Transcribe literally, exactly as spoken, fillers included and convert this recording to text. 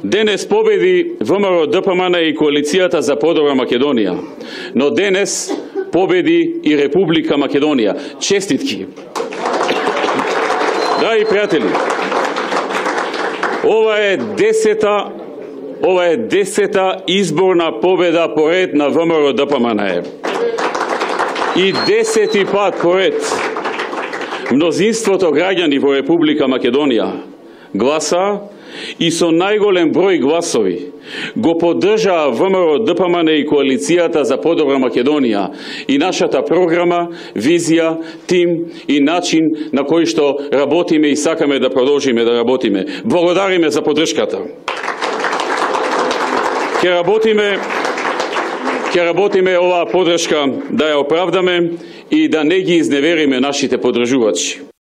Денес победи ВМРО Д П М Н и коалицијата за подобра Македонија, но денес победи и Република Македонија. Честитки! Драги пријатели, ова е десета, ова е десета изборна победа поред на ВМРО Д П М Н. И десети пат поред мнозинството граѓани во Република Македонија гласа и со најголем број гласови го поддржаа ВМРО Д П М Н и коалицијата за подобра Македонија и нашата програма, визија, тим и начин на кој што работиме и сакаме да продолжиме да работиме. Благодариме за поддршката. Ќе работиме Ќе работиме оваа поддршка да ја оправдаме и да не ги изневериме нашите поддржувачи.